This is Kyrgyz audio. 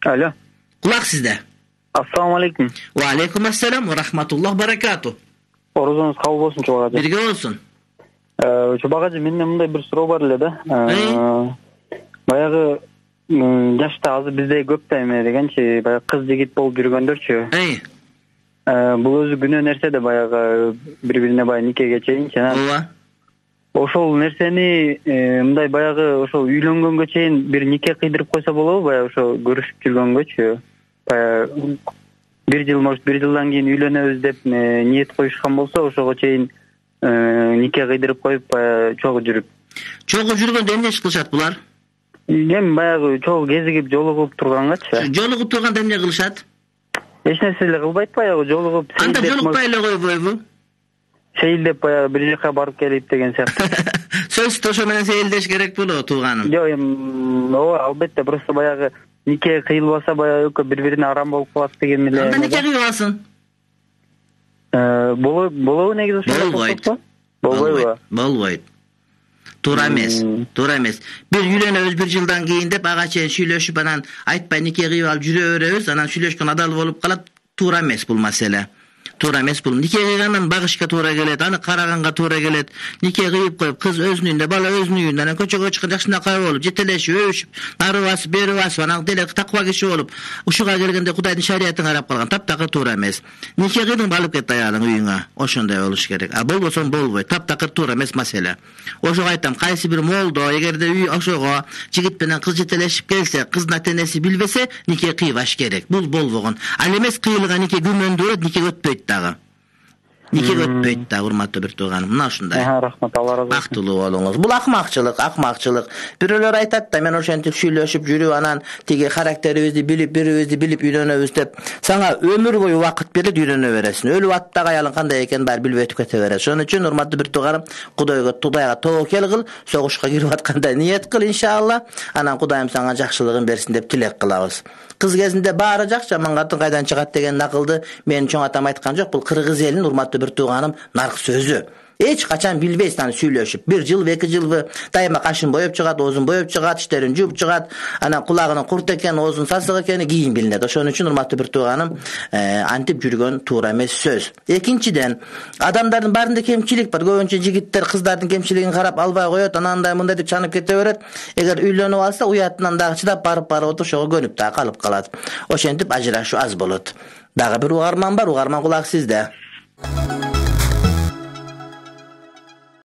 Алло. Кулак сизде. Ассаламу алейкум. Ва алейкум ассалам ва рахматуллах баракату. Орозоңуз кабыл болсун Чубак ажы. Бирге болсун. Чубак ажы, менде мындай бир суроо бар эле да. Баягы жашта азыр бизде көп да эме дегенчи, баягы кыз жигит болуп жүргөндөрчү. Бул өзү күнөө нерсе да, баягы бири-бирине баягы никеге чейинчи. Ооба. Ошол нерсени мындай баягы ошол үйлөнгөнгө чейин бир нике кыйдырып койсо болобу? Баягы ошо көрүшүп жүргөнгөчү. Баягы бир жыл, может, бир жылдан кийин үйлөнөбүз деп ниет коюшкан болсо, ошого чейин нике кыйдырып коюп, баягы чогуу жүрүп. Чогуу жүргөндө эмне иш кылышат булар? Эми баягы чогуу кезигип жолугуп тургангачы. Жолугуп турганда эмне кылышат? Эч нерсе эле кылбайт, баягы жолугуп. Анда жолукпай эле койбойбу? Сейилдеп баягы бир жака барып келип деген сыяктуу. Сөзсүз ошо менен сейилдеш керек болот, тууганым. Жок, эми ооба, албетте, просто баягы нике кыйылбаса баягы экөө бири-бирине арам болуп калат деген эле. Анда нике кыйбасын. Болобу негизи ошо? Болбойбу. Болбойт. Туура эмес. Бир үйлөнөбүз бир жылдан кийин деп ага чейин сүйлөшүп, анан айтпай нике кыйып алып жүрө беребиз, анан сүйлөшкөн адал болуп калат. Туура эмес бул маселе. Туура эмес бул. Нике кыйгандан багышка туура келет, аны караганга туура келет. Нике кыйып коюп, кыз өзүнүн үйүндө, бала өзүнүн үйүндө, анан көчөгө чыккан жакшынакай болуп, жетелешип, өбүшүп, нары басып, бери басып, анан деле таква киши болуп, ушуга келгенде Кудайдын шариятын карап калган, таптакыр туура эмес. Нике кыйдың, алып кет аялың үйүңө. Ошондой болуш керек. А болбосо болбойт. Таптакыр туура эмес маселе. Ошого айтам, кайсы бир молдо, эгерде үй ошого жигит менен кыз жетелешип келсе, кыздын ата-энеси билбесе, нике кыйбаш керек. Бул болбогон. Ал эмес кыйылган нике күмөндүрөт, нике өтпөйт дагы. Нике өтпөйт да, урматтуу бир тууганым. Мына ушундай. Рахмат, Алла разы болсун. Актылуу болуңуз. Бул акмакчылык. Бирөөлөр айтат да, мен ошентип сүйлөшүп жүрүп, анан тиги характерибизди билип, бирибизди билип үйлөнөбүз деп. Сага өмүр бою убакыт берет, үйлөнө бересиң. Өлүп аттагы аялың кандай экенин баары билбей өтүп кете берет. Ошон үчүн урматтуу бир тууганым, Кудайга тобокел кыл, согушка кирип атканда ниет кыл иншалла. Анан Кудайым сага жакшылыгын берсин деп тилек кылабыз. Кыз кезинде баары жакшы, жаман катын кайдан чыгат деген накылды менин чоң атам айткан жок. Бул кыргыз элинин урматтуу бир тууганым нарк сөзү. Эч качан билбейсиң аны сүйлөшүп. Бир жыл, 2 жылбы дайыма кашын боеп чыгат, оозун боеп чыгат, иштерин жууп чыгат. Анан кулагынын курт экен, оозунун сасык экени кийин билинет. Ошон үчүн урматтуу бир тууганым, антип жүргөн туура эмес сөз. Экинчиден, адамдардын баарында кемчилик бар. Көбүнчө жигиттер кыздардын кемчилигин карап албай коет, анандай мындай деп чанып кете берет. Эгер үйлөнүп алса, уятынан дагы чыдап барып ошого көнүп дагы калып калат. Ошентип ажырашуу аз болот. Дагы бир угарман бар, угарман кулак сизде.